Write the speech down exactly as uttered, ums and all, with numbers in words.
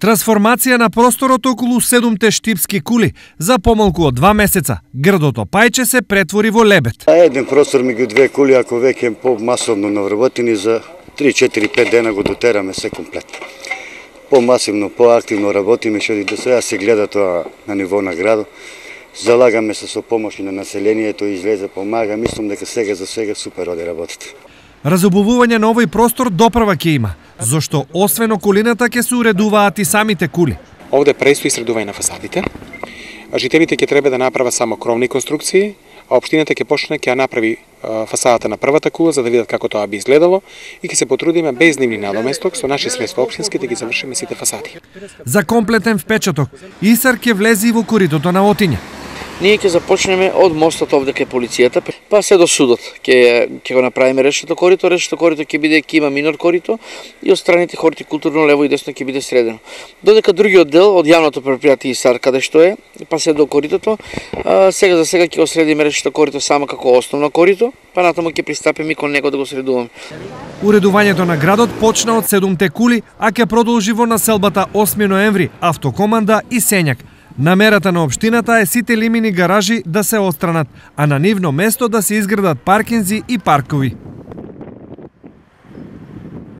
Трансформација на просторот околу седумте штипски кули. За помалку од два месеца грдото Пајче се претвори во лебед. Еден простор меѓу две кули, ако веќе по-масовно навработени, за три, четири, пет дена го дотераме се комплетно. По-масивно, по-активно работиме, што и до сега се гледа тоа на ниво на градот. Залагаме се со помош на населението, излезе, помага. Мислам дека сега за сега супер оди работата. Разобувување на овој простор допрва ќе има, зашто освен околината ќе се уредуваат и самите кули. Овде престои средување на фасадите. Жителите ќе треба да направат само кровни конструкции, а општината ќе почне ќе ја направи фасадата на првата кула за да видат како тоа би изгледало и ќе се потрудиме без нивни надоместок со наши средства општински да ги завршиме сите фасади. За комплетен впечаток, Исар ќе влезе и во коритото на Отиња. Ние ќе започнеме од мостот овде кај полицијата, па се до судот. Ќе ќе го направиме решето корито, решето корито ќе биде ќе има минор корито и од страните хортикултурно лево и десно ќе биде средено. Додека другиот дел од јавното претпријатие Исар каде што е, па се до коритото, а, сега за сега ќе го средиме решето корито само како основно корито, па натаму ќе пристапиме кон него да го средуваме. Уредувањето на градот почна од седумте кули, а ќе продолжи во населбата осми ноември, Автокоманда и Сењак. Намерата на општината е сите лимини гаражи да се отстранат, а на нивно место да се изградат паркинзи и паркови.